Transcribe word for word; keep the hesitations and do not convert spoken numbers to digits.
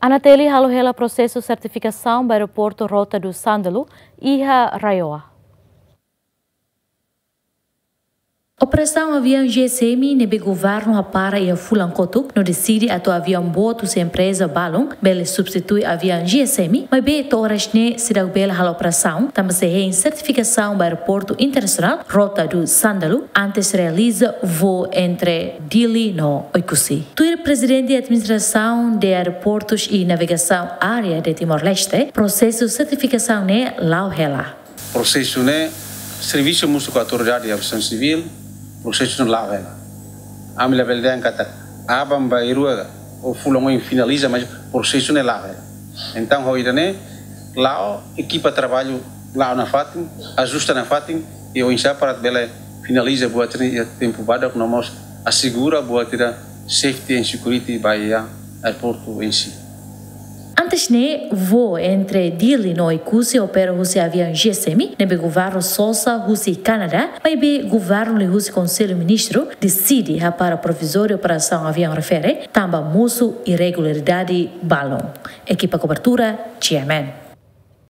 ANATL halo hela prosesu sertifikasaun ba aeroportu Rota do Sândalo iha RAEOA. Operasaun aviaun G S M ne'ebé governu hapara iha fulan kotuk no deside atu aviaun boot husi empreza balun bele substitui aviaun G S M, maibé to'o oras ne'e seidauk bele halo operasaun, tanba sei hein sertifikasaun ba aeroportu internasionál Rota do Sândalo antes realiza voo entre Dili no Oekusi. Tuir Prezidente Administrasaun de Aeroportos e Navegação Aérea de Timor-Leste, prosesu sertifikasaun ne'e la'o hela. Prosesu ne'e, servisu mós ho Autoridade Aviasaun Sivíl, prosesu ne'e la'o hela. Ami labele dehan katak aban-bainrua ou fulan oin finaliza, mas prosesu ne'e la'o hela. Entaun, ho ida-ne'e, la'o, ekipa traballu la'o nafatin, ajusta nafatin, i oinsá para bele finaliza buat ne'e iha tempu badak no mós asegura buat ida safety and security ba iha aeroportu em si. Antes ne'e, voo entre Dili no Oekusi opera husi aviaun G S M, ne'ebé governu sosa husi Kanadá, maibé governu liuhusi Konsellu Ministru deside hapara provizóriu operasaun aviaun refere, tanba mosu irregularidade balun. Ekipa kobertura, G M N.